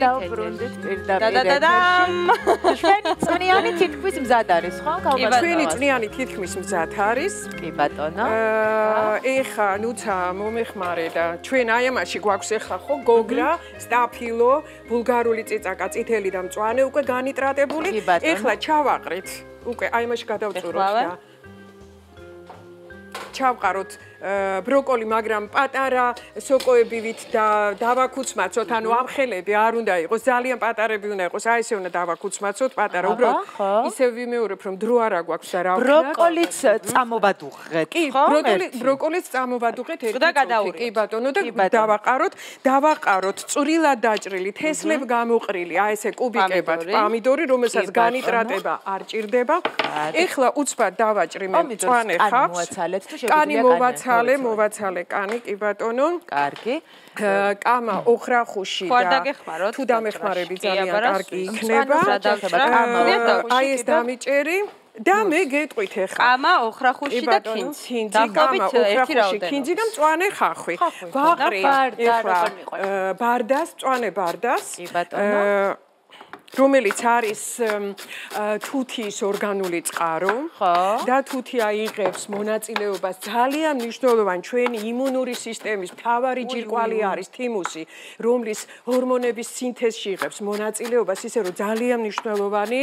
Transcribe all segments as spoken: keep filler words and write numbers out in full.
დავბრუნდით პირდაპირ. ჩვენი წვნიანი თითქმის მზად არის, ხო? ჩვენი წვნიანი თითქმის მზად არის. კი ბატონო. ეხა ნუცა მომეხმარე და ჩვენ აი ამაში გვაქვს ეხა ხო გოგრა, სტაფილო, ბულგარული წიწაკა, წითელი და მწვანე უკვე განიტრატებული. ეხლა ჩავაყრით. უკვე აი ამაში გადავწუროთ და ჩავყაროთ ბროკოლი, მაგრამ პატარა სოკოებივით და დავაკუცმაცოთ, ანუ ამხელები არ უნდა იყოს, ძალიან პატარები უნდა იყოს, აი ესე უნდა დავაკუცმაცოთ, პატარა, უბრალოდ ისევ ვიმეორებ, რომ დრო არ აქვს და რა ვქნა. ბროკოლიც წამოვადუღეთ, ხო? ბროკოლი, ბროკოლიც წამოვადუღეთ ერთი წუთი. კი ბატონო და დავაყაროთ, დავაყაროთ წვრილად დაჭრილი, თესლებ გამოყრილი, აი ესე კუბიკებად პომიდორი, რომელსაც განიტრატება არ ჭირდება. ეხლა უცბად დავაჭრი მე მწვანე ხავს. კანი მოვაცალე. მოვაცალე, მოვაცალე კანი, კი ბატონო. კარგი. კამა ოხრახუში და თუ დამეხმარები ძალიან კარგი იქნება. აი ეს დამიჭერი და მე გეტყვით ახლა. კამა ოხრახუში და ქინძი. კამა ოხრახუში, ქინძი და მწვანე ხახვი. ვაყრი ახლა ბარდას, მწვანე ბარდას. კი ბატონო. რომელიც არის თუთიის ორგანული წყარო და თუთი აიღებს მონაწილეობას ძალიან მნიშვნელოვანი ჩვენი იმუნური სისტემის მთავარი ჯირკვალი არის თიმუსი, რომლის ჰორმონების სინთეზში იღებს მონაწილეობას, ისე რომ ძალიან მნიშვნელოვანი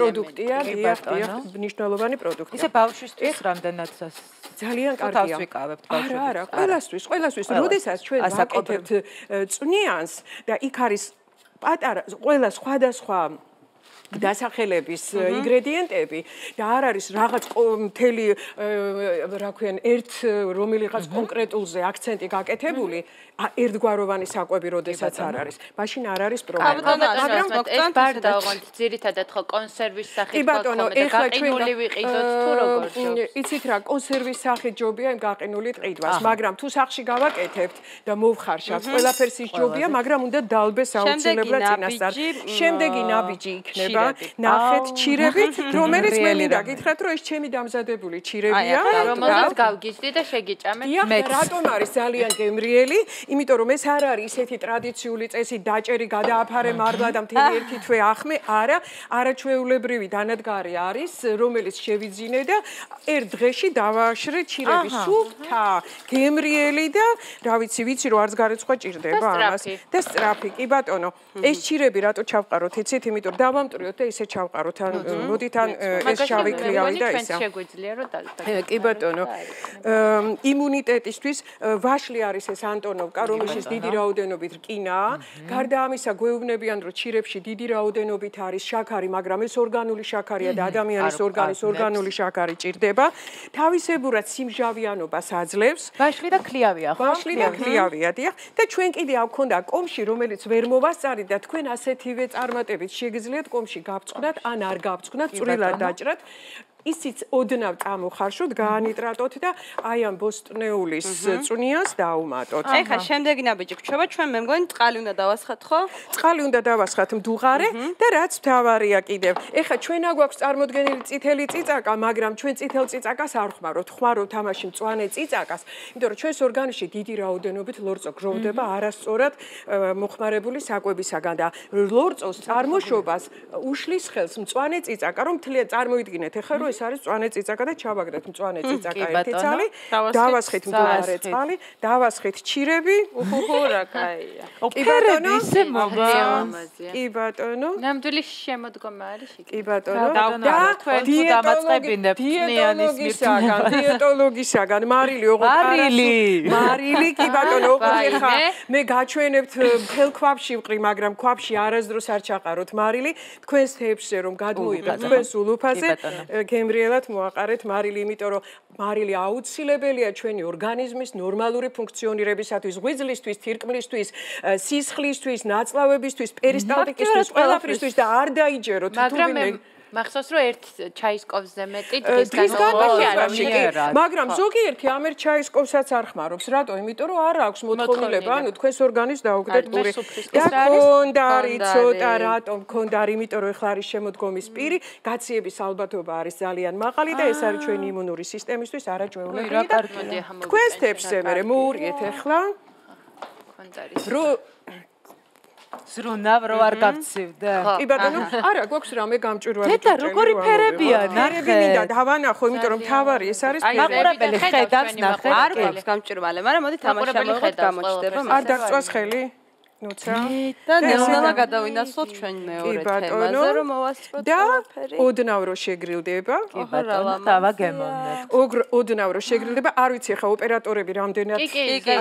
პროდუქტია, დიახ, დიახ, მნიშვნელოვანი პროდუქტია. ისე ბავშვისთვის რამდენად ძალიან კარგია. არა, არა, ყველასთვის, ყველასთვის, როდესაც ჩვენ ვაკეთებთ წვნიანს და იქ არის პატარა ყველა სხვადასხვა დასახელების ინგრედიენტები და არ არის რაღაც მთელი რა ქვიან ერთ რომელიღაც კონკრეტულზე აქცენტი გაკეთებული ერთგვაროვანი საკვები როდესაც არ არის მაშინ არ არის პრობლემა მაგრამ ეს ბარდა ოღონდ ძირითადად ხო კონსერვის სახით ბატონო ეხლა გაყინული ვიყიდოთ თუ როგორ ჯობს იცით რა კონსერვის სახით ჯობია იმ გაყინული ტყიდვას მაგრამ თუ სახში გავაკეთებთ და მოვხარშავთ ყველაფერს ის ჯობია მაგრამ უნდა დალბეს აუცილებლად წინასწარ შემდეგი ნაბიჯი იქნება ნახეთ ჩირებით რომელიც მე მინდა გითხრათ რომ ეს ჩემი დამზადებული ჩირებია რომელსაც გავგიზდი და შეგიჭამეთ მე რატომ არის ძალიან გემრიელი იმიტომ რომ ეს არ არის ისეთი ტრადიციული წესი დაჭერი გადააფარე მარბლა და მთელი ერთი თვე ახმე არა არაჩვეულებრივი დანადგარი არის რომელიც შევიძინე და ერთ დღეში დავაშრე ჩირები სუფთა გემრიელი და რა ვიცი ვიცი რომ არც გარეცხვა ჭირდება ამას და სწრაფი კი ბატონო ეს ჩირები რატო ჩავყაროთ იცით იმიტომ რომ დავამტვრიოთ და ისე ჩავყაროთ ან მოდით ან ეს შავი ქლიავი და ისა შეგვიძლია რომ დავტოვოთ კი ბატონო იმუნიტეტისთვის ვაშლი არის ეს ანტონოვკა რომელშიც დიდი რაოდენობით რკინაა გარდა ამისა გვეუბნებიან რომ ჩირებში დიდი რაოდენობით არის შაქარი მაგრამ ეს ორგანული შაქარია და ადამიანის ორგანიზმის ორგანული შაქარი ჭირდება თავისებურად სიმჟავიანობას აძლევს ვაშლი და ქლიავია ხო ვაშლი და ქლიავია დიახ და ჩვენ კიდე აქ ქონდა კომში რომელიც ვერ მოვასწარით და თქვენ ასეთივე წარმატებით შეგიძლიათ კომში გავწყნათ ან არ გავწყნათ წვრილად დაჭრათ ისიც ოდნავ წამოხარშოთ, გაანიტრატოთ და აი ამ ბოსტნეულის წვნიანს დაუმატოთ. ეხლა შემდეგი ნაბიჯი გრჩება, ჩვენ მე მგონი წყალი უნდა დავასხათ, ხო? წყალი უნდა დავასხათ მდუღარე და რაც მთავარია კიდევ. ეხლა ჩვენ აგვაქვს წარმოდგენილი წითელი წიწაკა, მაგრამ ჩვენ წითელ წიწაკას არ ხმარობთ. ხმარობთ ამაში მწვანე წიწაკას, იმიტომ რომ ჩვენს ორგანიზმში დიდი რაოდენობით ლორწო გროვდება არასწორად მოხმარებული საკვებისაგან და ლორწოს წარმოშობას უშლის ხელს მწვანე წიწაკა, რომ თლია წარმოიდგინეთ ეხლა რომ ეს არის მწვანე წიწაკა და ჩავაგდეთ მწვანე წიწაკა ერთი წალი, დავასხეთ მდუღარე წყალი, დავასხეთ ჩირები. უჰუ რა კაია. კი ბატონო, ისე მოვა. კი ბატონო. ნამდვილი შემოდგომა არის იქ. კი ბატონო. და თქვენ თუ დამაწყებინებთ დიეტოლოგისაგან, დიეტოლოგისაგან მარილი ოღონდ მარილი. მარილი კი ბატონო, ოღონდ ხა მე გაჩვენებთ მთელ ქვაბში ვყრი, მაგრამ ქვაბში არასდროს არ ჩაყაროთ მარილი, თქვენს თეფშზე რომ გადმოიღეთ თქვენს ულუფაზე გემრიელად მოაყარეთ მარილი, იმიტომ რომ მარილი აუცილებელია ჩვენი ორგანიზმის ნორმალური ფუნქციონირებისათვის, ღვიძლისთვის, თირკმლისთვის, სისხლისთვის, ნაწლავებისთვის, პერისტალტიკისთვის, ყველაფრისთვის და არ დაიჯეროთ თუ ვინმე მახსოვს რომ ერთ ჩაისკოვზე მეტი დღის განმავლობაში არ მიერა მაგრამ ზოგიერთი ამ ერთ ჩაისკოვსაც არ ხმარობს რატო იმიტომ რომ არ აქვს მოთხოვნილება ანუ თქვენს ორგანიზმს დაუგდეთ პური და კონდარი ცოტა რატომ კონდარი იმიტომ რომ ეხლა არის შემოდგომის პირი გაციების ალბათობა არის ძალიან მაღალი და ეს არის ჩვენი იმუნური სისტემისთვის არაჩვეულებელი და თქვენს თეფშზე მე მოურიეთ ეხლა კონდარი რო ზრუნავ რო არ გავცივდე. კი ბატონო, არა, გვაქვს რამე გამჭვირვალე. დედა, როგორი ფერებია, ნახე. ფერები მინდა დავანახო, იმიტომ რომ თავარი ეს არის ფერი. მაყურებელი ხედავს, ნახე. არ გვაქვს გამჭვირვალე, მაგრამ მოდი თამაშάμε გამოჩდება. არ დაგწვას ხელი? ნუცა. და ნელ-ნელა გადავინაცვლოთ ჩვენ მეორე თემაზე, რომ მოვასწროთ ყველაფერი. და ოდნავ რო შეგრილდება. კი ბატონო, დავა გემოვნებ. ოდნავ რო შეგრილდება, არ ვიცი ხა ოპერატორები რამდენად კი, კი, კი,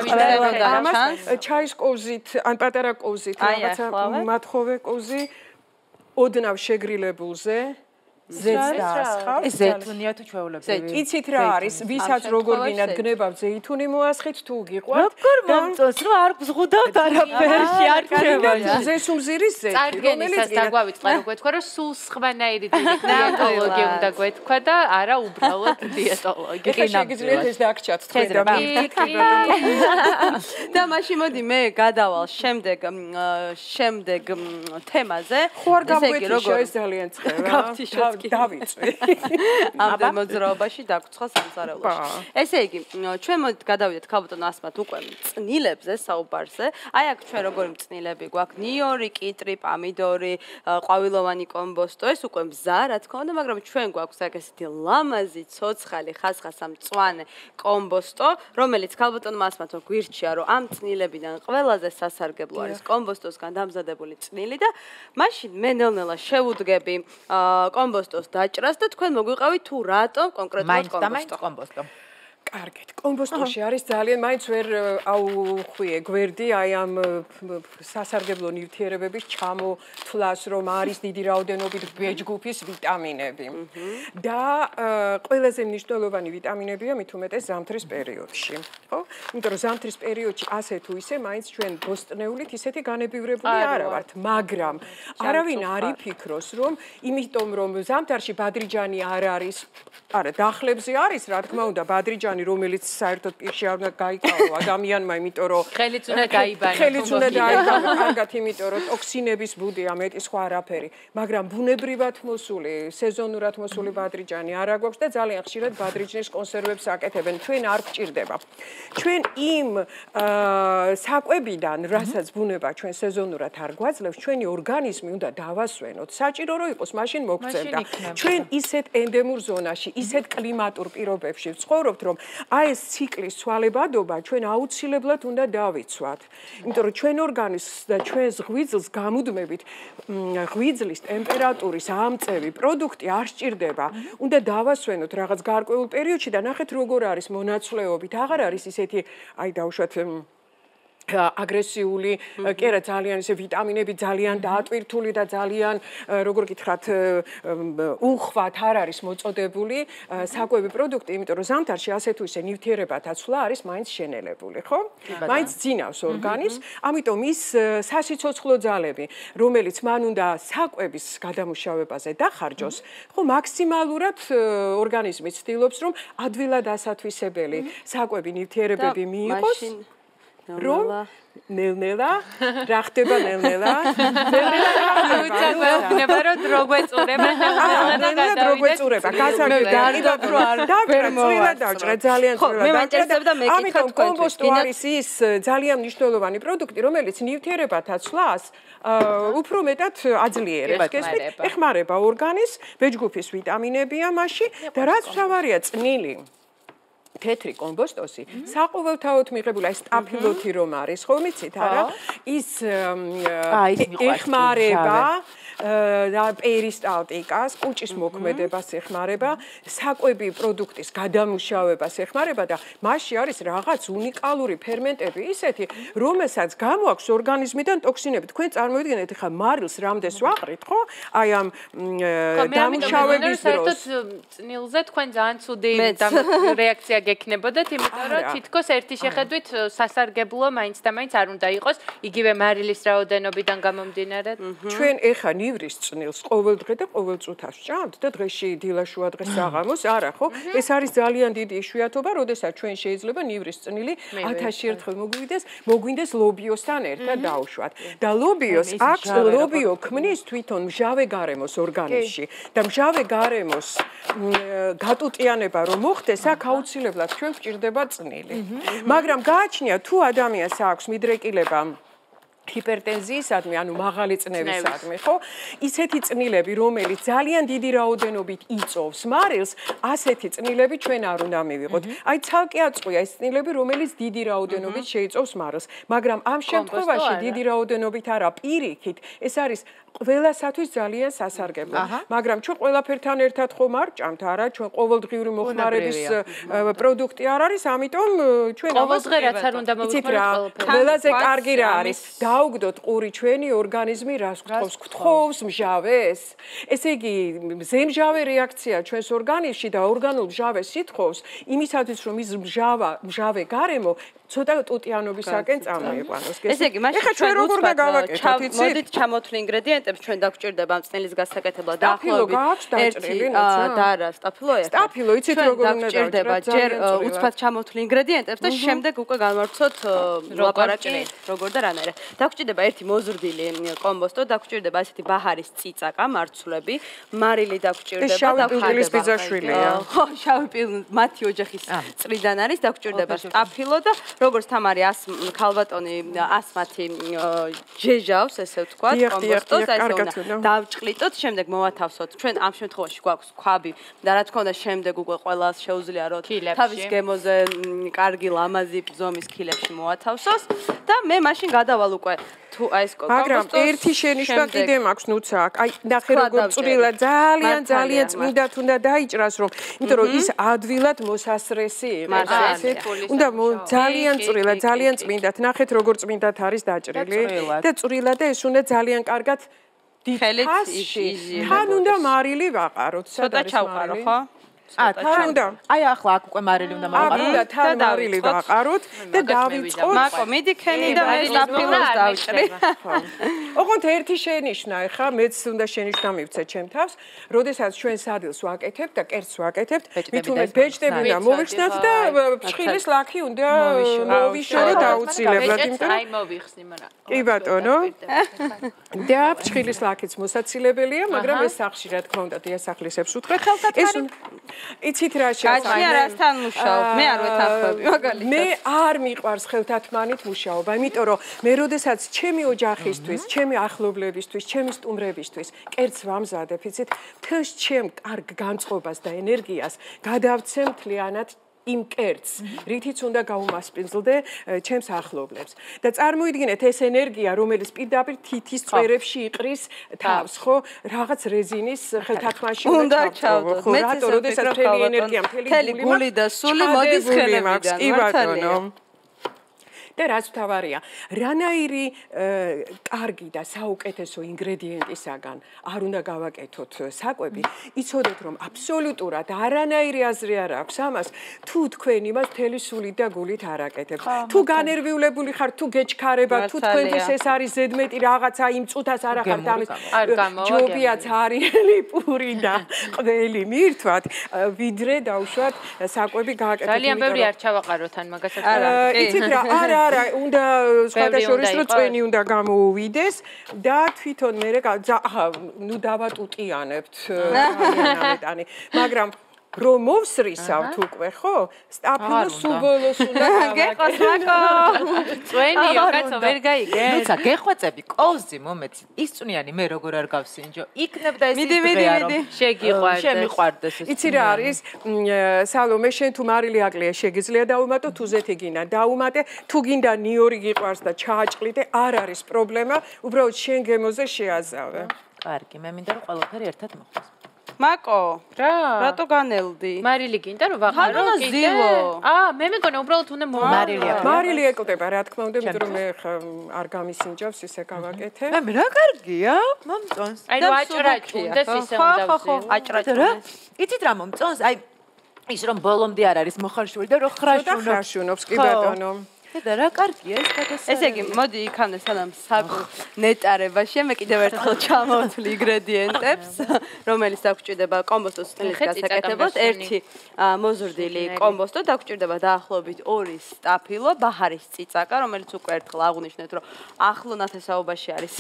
ჩაის კოვზით, ან პატარა კოვზით, რაღაცა მათხოვე კოვზი ოდნავ შეგრილებულზე ზეც დაასხავთ. ეს ზეითუნია თუ ჩვეულებრივი. იცით რა არის, ვისაც როგორ გინდათ გნებავთ ზეითუნი მოასხით თუ გიყვართ. როგორ მომწონს, რომ არ გზღუდავთ არაფერში, არ ქრება. ზესუმზირის ზეთი, წარდგენისას დაგვავიწყდა რომ გვეთქვა, რომ სულ სხვანაირი დიეტოლოგი უნდა გვეთქვა და არა უბრალოდ დიეტოლოგი. ეხლა შეგიძლიათ ეს დაგჭათ თქვენ და და მაშინ მოდი მე გადავალ შემდეგ შემდეგ თემაზე. ხო არ გავგვეთიშა ეს ძალიან ცხელა. დავიწვი. ამდენ მოძრაობაში დაგვრცხა სამზარეულოში. ესე იგი, ჩვენ მოდით გადავიდეთ ქალბატონ ასმათ უკვე მწნილებზე, საუბარზე. აი აქ ჩვენ როგორი მწნილები გვაქვს? ნიორი, კიტრი, პამიდორი, ყვავილოვანი კომბოსტო, ეს უკვე მზა, რა თქმა უნდა, მაგრამ ჩვენ გვაქვს აქ ესეთი ლამაზი, ცოცხალი, ხასხასა მწვანე კომბოსტო, რომელიც ქალბატონმა ასმათო გვირჩია, რომ ამ წნილებიდან ყველაზე სასარგებლო არის კომბოსტოსგან დამზადებული წნილი და მაშინ მე ნელ-ნელა შევუდგები კომბოსტოს დაჭრას და თქვენ მოგვიყავით თუ რატომ კონკრეტულად კომბოსტო. კომბოსტო. კარგით. კომბოსტოში არის ძალიან მაინც ვერ აუხვიე გვერდი აი ამ სასარგებლო ნივთიერებების ჩამოთვლას, რომ არის დიდი რაოდენობით ბეჯგუფის ვიტამინები. და ყველაზე მნიშვნელოვანი ვიტამინებია მით უმეტეს ზამთრის პერიოდში. ხო? იმიტომ რომ ზამთრის პერიოდში ასე თუ ისე მაინც ჩვენ ბოსტნეულით ისეთი განებივრებული არა ვართ, მაგრამ არავინ არ იფიქროს, რომ იმიტომ რომ ზამთარში ბადრიჯანი არ არის, არა, დახლებზე არის, რა თქმა უნდა, ბადრიჯანი რომელიც საერთოდ პირში არ უნდა გაიკავო ადამიანმა, იმიტომ რომ ხელიც უნდა გაიბანო. ხელიც უნდა დაიბანო, კარგად, იმიტომ რომ ტოქსინების ბუდია მეტი სხვა არაფერი, მაგრამ ბუნებრივად მოსული, სეზონურად მოსული ბადრიჯანი არა გვაქვს და ძალიან ხშირად ბადრიჯნის კონსერვებს აკეთებენ. ჩვენ არ გვჭირდება. ჩვენ იმ საკვებიდან, რასაც ბუნება ჩვენ სეზონურად არ გვაძლევს, ჩვენი ორგანიზმი უნდა დავასვენოთ. საჭირო რომ იყოს, მაშინ მოგწევდა. ჩვენ ისეთ ენდემურ ზონაში, ისეთ კლიმატურ პირობებში ვცხოვრობთ, რომ აი ეს ციკლის ცვალებადობა ჩვენ აუცილებლად უნდა დავიცვათ. იმიტომ რომ ჩვენ ორგანიზმს და ჩვენს ღვიძლს გამუდმებით ღვიძლის ტემპერატურის ამწევი პროდუქტი არ სჭირდება. უნდა დავასვენოთ რაღაც გარკვეულ პერიოდში და ნახეთ როგორ არის მონაცვლეობით. აღარ არის ისეთი აი დავუშვათ აგრესიული, კი არა ძალიან ისე ვიტამინები ძალიან დაატვირთული და ძალიან როგორ გითხრათ უხვად არ არის მოწოდებული საკვები პროდუქტი, იმიტომ რომ ზამთარში ასე თუ ისე ნივთიერებათა ცვლა არის მაინც შენელებული, ხო? მაინც ძინავს ორგანიზმს, ამიტომ ის სასიცოცხლო ძალები, რომელიც მან უნდა საკვების გადამუშავებაზე დახარჯოს, ხო, მაქსიმალურად ორგანიზმი ცდილობს, რომ ადვილად ასათვისებელი საკვები ნივთიერებები მიიღოს. რომ ნელ-ნელა რა ხდება ნელ-ნელა უცა გვეუბნება რომ დრო გვეწურება ნელ-ნელა დრო გვეწურება გასაგებია რომ არ ვერ მოვა დავჭრა ძალიან წვრილად ამიტომ კომბოსტო არის ის ძალიან მნიშვნელოვანი პროდუქტი რომელიც ნივთიერებათა ცვლას უფრო მეტად აძლიერებს გესმით ეხმარება ორგანიზმს ბეჯგუფის ვიტამინებია მასში და რაც მთავარია წნილი თეთრი კომბოსტოსი საყოველთაოდ მიღებული აი სტაფილოთი რომ არის ხო მიცით არა ის ეხმარება და პერისტალტიკას, კუჭის მოქმედებას ეხმარება, საკვები პროდუქტის გადამუშავებას ეხმარება და მასში არის რაღაც უნიკალური ფერმენტები ისეთი, რომელსაც გამოაქვს ორგანიზმიდან ტოქსინები. თქვენ წარმოვიდგინეთ, ხა მარილს რამდენს ვაყრით, ხო? აი ამ დამუშავების დროს. წნილზე თქვენ ძალიან ცუდი რეაქცია გექნებოდეთ, იმიტომ რომ თითქოს ერთი შეხედვით სასარგებლო მაინც და მაინც არ უნდა იყოს, იგივე მარილის რაოდენობიდან გამომდინარე. ჩვენ ეხა ნივრის წნილს ყოველდღე და ყოველ წუთას ვჭამთ და დღეში დილაშუა დღეს საღამოს არა ხო? ეს არის ძალიან დიდი იშვიათობა, როდესაც ჩვენ შეიძლება ნივრის წნილი ათასი ერთხელ მოგვიდეს, მოგვინდეს ლობიოსთან ერთად დაუშვათ. და ლობიოს აქვს ლობიო ქმნის თვითონ მჟავე გარემოს ორგანიზმში და მჟავე გარემოს გატუტიანება რომ მოხდეს, აქ აუცილებლად ჩვენ გვჭირდება წნილი. მაგრამ გააჩნია თუ ადამიანს აქვს მიდრეკილება ჰიპერტენზიისადმი, ანუ მაღალი წნევისადმი, ხო? ისეთი წნილები, რომელიც ძალიან დიდი რაოდენობით იწოვს მარილს, ასეთი წნილები ჩვენ არ უნდა მივიღოთ. აი ცალკე აწყვია ეს წნილები, რომელიც დიდი რაოდენობით შეიწოვს მარილს, მაგრამ ამ შემთხვევაში დიდი რაოდენობით არა, პირიქით, ეს არის ყველასათვის ძალიან სასარგებლო. მაგრამ ჩვენ ყველაფერთან ერთად ხომ არ ჭამთ, არა, ჩვენ ყოველდღიური მოხმარების პროდუქტი არ არის, ამიტომ ჩვენ ყოველდღე რაც არ უნდა მოვიხმაროთ, ყველაზე კარგი რა არის? დაუგდოთ ყური ჩვენი ორგანიზმი რას გთხოვს? გთხოვს მჟავეს. ესე იგი, მზემჟავე რეაქცია ჩვენს ორგანიზმში და ორგანულ მჟავეს ითხოვს, იმისათვის რომ ის მჟავა, მჟავე გარემო ცოტა ტუტიანობისაკენ წამოიყვანოს. ესე იგი, მაშინ ჩვენ როგორ უნდა გავაკეთოთ, იცით? მოდით ჩამოთვლი ინგრედიენტებს ჩვენ დაგვჭირდება ამ წნილის გასაკეთებლად დაახლოებით ერთი და რა, სტაფილოა? სტაფილო, იცით როგორ უნდა დაგვჭირდება ჯერ უცბად ჩამოთვლი ინგრედიენტებს და შემდეგ უკვე განვარცხოთ ლაპარაკი როგორ და რანაირად. დაგვჭირდება ერთი მოზრდილი კომბოსტო, დაგვჭირდება ასეთი ბაჰარის წიწაკა, მარცვლები, მარილი დაგვჭირდება, შავი ბიძაშვილია. ხო, შავი პილ მათი ოჯახის წრიდან არის, დაგვჭირდება სტაფილო და როგორც თამარი ას ქალბატონი ასმათი ჯეჟავს, ესე ვთქვათ, კომბოსტოს, აი ეს უნდა დავჭყლიტოთ, შემდეგ მოვათავსოთ. ჩვენ ამ შემთხვევაში გვაქვს ქვაბი და რა თქმა უნდა, შემდეგ უკვე ყველას შეუძლია რომ თავის გემოზე კარგი ლამაზი ზომის ქილებში მოათავსოს და მე მაშინ გადავალ უკვე თუ აი ეს მაგრამ ერთი შენიშვნა კიდე მაქვს ნუცა აქ. აი ნახე როგორ წვრილა ძალიან ძალიან წმინდად უნდა დაიჭრას რომ იმიტომ რომ ის ადვილად მოსასრესი იყოს ესეთ. უნდა ძალიან წვრილა ძალიან წმინდად. ნახეთ როგორ წმინდად არის დაჭრილი და წვრილა და ეს უნდა ძალიან კარგად ხელით თან უნდა მარილი ვაყაროთ. ცოტა ჩავყარო ხო? ა თან უნდა აი ახლა აქ უკვე მარილი უნდა მოვაყარო და თან მარილი ვაყაროთ და დავიწყოთ მაკო მიდი ქენი და მე სტაფილოს დავჭრი ოღონდ ერთი შენიშვნა ეხა მეც უნდა შენიშვნა მივცე ჩემ თავს როდესაც ჩვენ სადილს ვაკეთებთ და კერძს ვაკეთებთ მით უმეტ ბეჭდები უნდა მოვიხსნათ და ფრჩხილის ლაქი უნდა მოვიშორო დაუცილებლად იმიტომ აი მოვიხსნი მაგრამ კი ბატონო და ფრჩხილის ლაქიც მოსაცილებელია მაგრამ ეს სახში რა თქმა უნდა დიასახლისებს უთხრეთ ეს იცით რა შეასახმე? გაჩნია რასთან მუშაობ? მე არ ვეთანხმები მაგალითად. მე არ მიყვარს ხელთათმანით მუშაობა, იმიტომ რომ მე როდესაც ჩემი ოჯახისთვის, ჩემი ახლობლებისთვის, ჩემი სტუმრებისთვის კერძს ვამზადებ, იცით, თელს ჩემ კარგ განწყობას და ენერგიას გადავცემ მთლიანად იმ კერძს, რითიც უნდა გაუმასპინძლდე ჩემს ახლობლებს. და წარმოიდგინეთ ეს ენერგია, რომელიც პირდაპირ თითის წვერებში იყრის თავს, ხო? რაღაც რეზინის ხელთათმაში უნდა ჩავდოთ. მე რატო, როდესაც მთელი ენერგია, მთელი გული და სული მოდის ხელებიდან. კი ბატონო. და რაც თავარია, რანაირი კარგი და საუკეთესო ინგრედიენტისაგან არ უნდა გავაკეთოთ საკვები, იცოდეთ რომ აბსოლუტურად არანაირი აზრი არ აქვს ამას, თუ თქვენ იმას მთელი სულით და გულით არ აკეთებთ. თუ განერვიულებული ხართ, თუ გეჩქარება, თუ თქვენთვის ეს არის ზედმეტი რაღაცა, იმ წუთას არ ახართ ამის ჯობია ცარიელი პური და ყველი მირთვათ, ვიდრე დავუშვათ საკვები გააკეთოთ. ძალიან ბევრი არ ჩავაყაროთ ან მაგასაც არა. იცით რა, არა არა, უნდა სხვადასხვა რომ წვენი უნდა გამოუვიდეს და თვითონ მე ახლა ნუ დავატუტიანებთ ამეტანი, მაგრამ რომ მოვსრისავთ უკვე, ხო? სტაფილო სუბოლოს უნდა გეხოს მაკო. წვენიო, კაცო, ვერ გაიგე. ნუცა, გეხვეწები, კოვზი მომეც. ის წვნიანი მე როგორ არ გავსინჯო. იქნებ და ეს ის დღეა რომ შეგიყვარდეს. შემიყვარდეს ეს. იცი რა არის? სალომე, შენ თუ მარილი აკლია შეგიძლია დაუმატო, თუ ზეთი გინდა დაუმატე, თუ გინდა ნიორი გიყვარს და ჩააჭყლიდე, არ არის პრობლემა, უბრალოდ შენ გემოზე შეაზავე. კარგი, მე მინდა რომ ყველაფერი ერთად მოხდეს. მაკო, რა? რატო განელდი? მარილი გინდა რომ ვაყარო კიდე? აა, მე მეგონა უბრალოდ უნდა მარილი აქვს. მარილი ეკუტება, რა თქმა უნდა, იმიტომ რომ მე არ გამისინჯავს ისე გავაკეთე. მე რა კარგია, მომწონს. აი რა აჭრაჭუნდეს ისე უნდა ვზი. ხო, აჭრაჭუნდეს. იცით რა მომწონს? აი ის რომ ბოლომდე არ არის მოხარშული და რომ ხრაშუნობს. ხრაშუნობს, კი ბატონო. და რა კარგია ეს გადასა. ესე იგი, მოდი იქამდე სანამ საკუ ნეტარებაში მე კიდევ ერთხელ ჩამოვთვლი ინგრედიენტებს, რომელიც დაგვჭირდება კომბოსტოს წნილის გასაკეთებლად, ერთი მოზრდილი კომბოსტო, დაგვჭირდება დაახლოებით ორი სტაფილო, ბაჰარის წიწაკა, რომელიც უკვე ერთხელ აღვნიშნეთ, რომ ახლო ნათესაობაში არის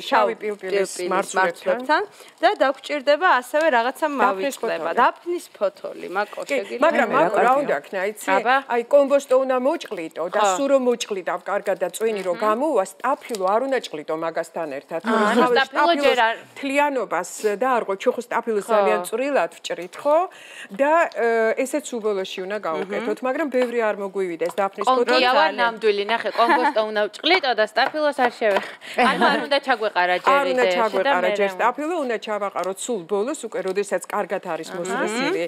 შავი პილპილის მარცვლებთან და დაგვჭირდება ასევე რაღაცა მავიწყდება, დაფნის ფოთოლი, მაკო შეგიძლია. მაგრამ მაკო რა უნდა ქნა, იცი? აი კომბოსტო უნდა მოჭყლიტო და სულ რომ მოჭყლიტავ კარგად და წვენი რომ გამოვა, სტაფილო არ უნდა ჭყლიტო მაგასთან ერთად. სტაფილო ჯერ არ თლიანობას და არღო ჩუხო სტაფილოს ძალიან წვრილად ვჭრით ხო? და ესეც უბოლოში უნდა გავუკეთოთ, მაგრამ ბევრი არ მოგვივიდეს დაფნის კონტრო. კონკიავა ნამდვილი, ნახე, კომბოსტო უნდა ვჭყლიტო და სტაფილოს არ შევეხ. ანუ არ უნდა ჩაგვეყარა ჯერ არ უნდა ჩაგვეყარა ჯერ სტაფილო, უნდა ჩავაყაროთ სულ ბოლოს, უკვე როდესაც კარგად არის მოსწრებული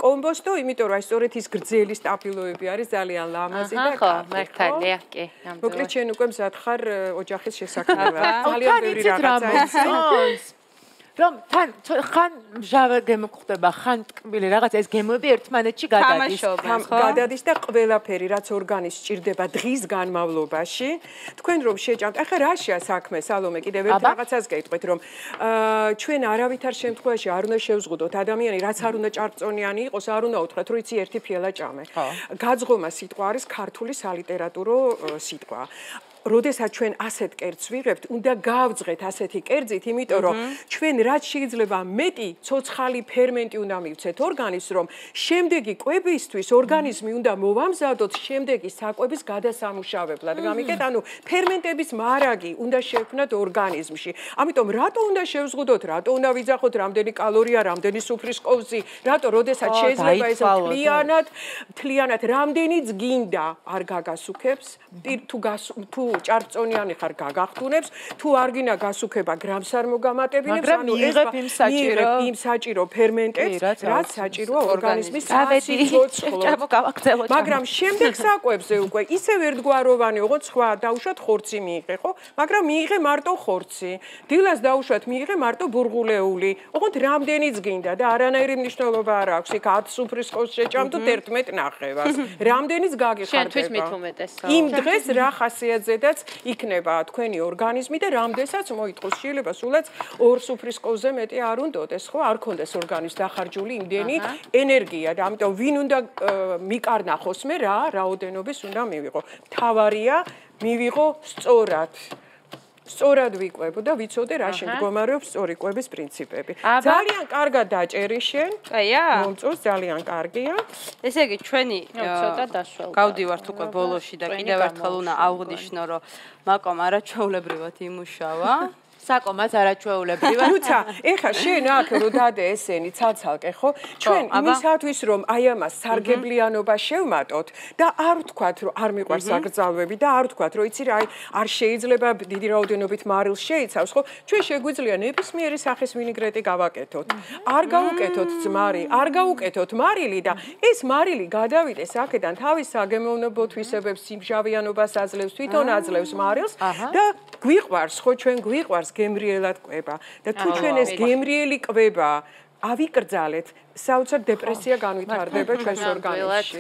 კომბოსტო, იმიტომ რომ აი სწორედ ის გრძელი სტაფილოები არის ძალიან ლამაზი და ხო, მართალია, კი, ნამდვილად. მოკლედ შენ უკვე მზად ხარ ოჯახის შესაქმნელად. ძალიან ბევრი რაღაცა ის. რომ თან ხან მჟავე გემო ხდება, ხან ტკბილი რაღაცა ეს გემოები ერთმანეთში გადადის. გადადის და ყველაფერი რაც ორგანის სჭირდება დღის განმავლობაში, თქვენ რომ შეჭამთ, ახლა რაშია საქმე, სალომე, კიდევ ერთ რაღაცას გეტყვით, რომ ჩვენ არავითარ შემთხვევაში არ უნდა შევზღუდოთ ადამიანი, რაც არ უნდა ჭარბწონიანი იყოს, არ უნდა უთხრათ, რომ იცი ერთი ფიალა ჭამე. გაძღომა სიტყვა არის ქართული სალიტერატურო სიტყვა. როდესაც ჩვენ ასეთ კერძს ვიღებთ, უნდა გავძღეთ ასეთი კერძით, იმიტომ რომ ჩვენ რაც შეიძლება მეტი ცოცხალი ფერმენტი უნდა მივცეთ ორგანიზმს, რომ შემდეგი კვებისთვის ორგანიზმი უნდა მოვამზადოთ შემდეგი საკვების გადასამუშავებლად. გამიგეთ, ანუ ფერმენტების მარაგი უნდა შევქმნათ ორგანიზმში. ამიტომ რატო უნდა შევზღუდოთ, რატო უნდა ვიძახოთ, რამდენი კალორია, რამდენი სუფრის ყოვზი, რატო როდესაც შეიძლება ეს თლიანად, თლიანად რამდენიც გინდა არ გაგასუქებს, თუ თუ ჭარბწონიანი ხარ გაგახტუნებს, თუ არ გინდა გასუქება გრამს არ მოგამატებინებს, ანუ იღებ იმ საჭირო იმ საჭირო ფერმენტებს, რაც საჭიროა ორგანიზმის სიცოცხლოდ. მაგრამ შემდეგ საკვებზე უკვე ისევ ერთგვაროვანი, ოღონდ სხვა დაუშვათ ხორცი მიიღე, ხო? მაგრამ მიიღე მარტო ხორცი. დილას დაუშვათ მიიღე მარტო ბურღულეული. ოღონდ რამდენიც გინდა და არანაირი მნიშვნელობა არ აქვს. იქ ათ სუფრის ყოვს შეჭამ თუ თერთმეტ ნახევარს. რამდენიც გაგიხარდება. შენთვის მით უმეტესაა. იმ დღეს რა ხასიათზედაც იქნება თქვენი ორგანიზმი და რამდენსაც მოითხოვს შეიძლება სულაც ორ სუფრის ყოვზე მეტი არ უნდოდეს, ხო? არ კონდეს ორგანიზმს დახარჯული იმდენი ენერგია და ამიტომ ვინ უნდა მიკარნახოს მე რა რაოდენობის უნდა მივიღო. მთავარია მივიღო სწორად. სწორად ვიკვებო და ვიცოდე რა შემდგომარეობს სწორი კვების პრინციპები. ძალიან კარგად დაჭერი შენ. აია. მომწონს ძალიან კარგია. ესე იგი ჩვენი ცოტა დაშველ. გავდივართ უკვე ბოლოში და კიდევ ერთხელ უნდა აღვნიშნო, რომ მაკომ არაჩვეულებრივად იმუშავა. საკომაც არაჩვეულებრივად. თუცა, ეხა შენ აქ რო დადე ესენი ცალცალკე, ხო? ჩვენ იმისათვის რომ აი ამას სარგებლიანობა შევმატოთ და არ ვთქვათ რომ არ მიყვარს საგრძალვები და არ ვთქვათ რომ იცი რა, აი არ შეიძლება დიდი რაოდენობით მარილს შეიცავს, ხო? ჩვენ შეგვიძლია ნებისმიერი სახის ვინიგრეტი გავაკეთოთ. არ გავუკეთოთ ძმარი, არ გავუკეთოთ მარილი და ეს მარილი გადავიდეს აქედან თავის საგემოვნებო თვისებებს, სიმჟავიანობას აძლევს, თვითონ აძლევს მარილს და გვიყვარს, ხო, ჩვენ გვიყვარს გემრიელად ყვება და თუ ჩვენ ეს გემრიელი ყვება ავიკრძალეთ, საოცარ დეპრესია განვითარდება ჩვენს ორგანიზმში.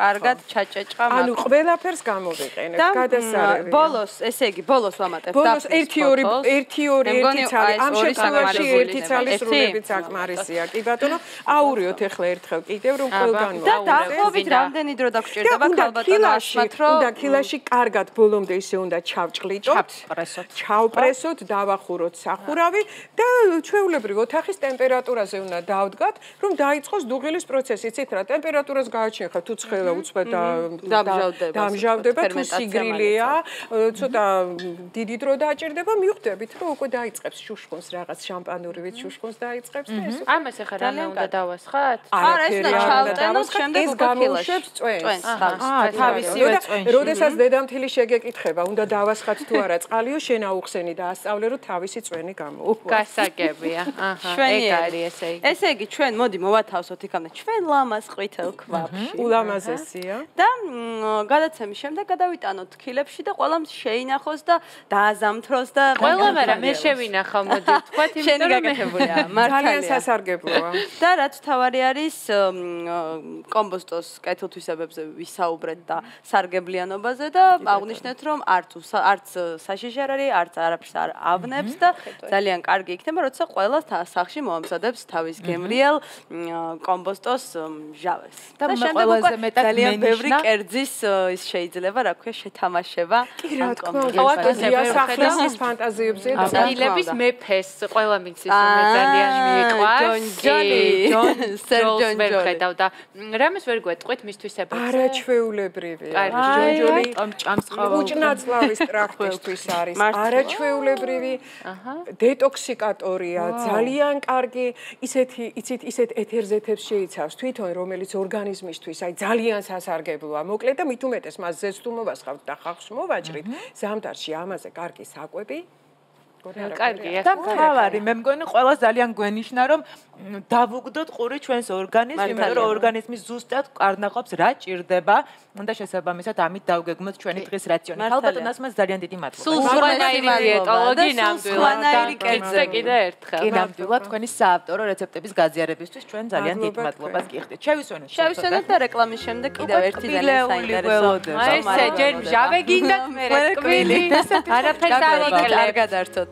კარგად ჩაჭეჭყა მაგ. ანუ ყველაფერს გამოვიყენებ, გადასარევი. ბოლოს, ესე იგი, ბოლოს ვამატებ დაფნის. ბოლოს ერთი ორი ერთი ორი ერთი ცალი. ამ შემთხვევაში ერთი ცალი სრულებით საკმარისია. კი ბატონო, აურიოთ ახლა ერთხელ კიდევ რომ ყველგან და დაახლოებით რამდენი დრო დაგჭირდება ქალბატონო ასმათ რომ უნდა ქილაში კარგად ბოლომდე ისე უნდა ჩავჭყლიტოთ. ჩავპრესოთ. ჩავპრესოთ, დავახუროთ სახურავი და ჩვეულებრივ ოთახის ტემპერატურაზე უნდა დავდგათ, რომ დაიწყოს დუღილის პროცესი. იცით რა, ტემპერატურას გააჩინხა თუ ცხელა უცბად დამჟავდება თუ სიგრილია, ცოტა დიდი დრო დაჭირდება, მივხვდებით რომ უკვე დაიწყებს შუშხუნს რაღაც შამპანურივით შუშხუნს დაიწყებს და ეს ამას ახლა რამე უნდა დავასხათ? არა, ეს უნდა ჩავტენოს, შემდეგ უკვე გამოუშვებს წვენს. აა, თავისივე წვენში. როდესაც დედამთილი შეგეკითხება, უნდა დავასხათ თუ არა წყალიო, შენ აუხსენი და ასწავლე რომ თავისი წვენი გამოუვა. გასაგებია. აჰა, ეგ არის ესე იგი. ესე იგი, ჩვენ მოდი მოვათავსოთ იქამდე ჩვენ ლამას ყვითელ ქვაბში. ულამაზესია. და გადაცემის შემდეგ გადავიტანოთ ქილებში და ყველამ შეინახოს და დააზამთროს და ყველამ არა მე შევინახავ მოდი თქვათ იმიტომ რომ გაკეთებულია ძალიან სასარგებლოა და რაც თავარი არის კომბოსტოს კეთილთვისებებზე ვისაუბრეთ და სარგებლიანობაზე და აღნიშნეთ რომ არც არც საშიში არ არის არც არაფერს არ ავნებს და ძალიან კარგი იქნება როცა ყველა სახში მოამზადებს თავის გემრიელ კომბოსტოს ჟავეს და ყველაზე მეტად ძალიან ბევრი კერძის ის შეიძლება, რა ქვია, შეთამაშება. კი, რა თქმა უნდა, ფანტაზია სახლის ფანტაზიებზე და წილების მეფეს ყველა მიცის რომ ძალიან მიყვარს. ჯონი, ჯონ, სერჯონ ვერხედავ და რამეს ვერ გვეტყვით მისთვის ებრებს. არაჩვეულებრივი. ჯონჯოლი ჭამს ყავა. უჭნაწლავის ტრაქტისთვის არის. არაჩვეულებრივი. დეტოქსიკატორია, ძალიან კარგი. ისეთი, იცით, ისეთ ეთერზეთებს შეიცავს თვითონ, რომელიც ორგანიზმისთვის აი ძალიან სასარგებლოა. მოკლედ და მით უმეტეს მას ზესტ უმოვასხავთ და ხახს მოვაჭრით. ზამთარში ამაზე კარგი საკვები. კარგია. და მთავარი, მე მგონი ყველა ძალიან გვენიშნა რომ დავუგდოთ ყური ჩვენს ორგანიზმს, იმიტომ რომ ორგანიზმი ზუსტად კარნახობს რა ჭირდება და შესაბამისად ამით დავგეგმოთ ჩვენი დღის რაციონი. ხალბატონას მას ძალიან დიდი მადლობა. სულ სხვანაირი დიეტოლოგი ნამდვილად და კიდე კიდე ერთხელ. კი, ნამდვილად თქვენი საავტორო რეცეპტების გაზიარებისთვის ჩვენ ძალიან დიდ მადლობას გიხდით. შევისვენოთ. შევისვენოთ და რეკლამის შემდეგ კიდევ ერთი ძალიან საინტერესო. აი ესე ჯერ მჟავე გინდათ მე რეკვილი. არაფერს არ იკლებთ. არ გადართოთ.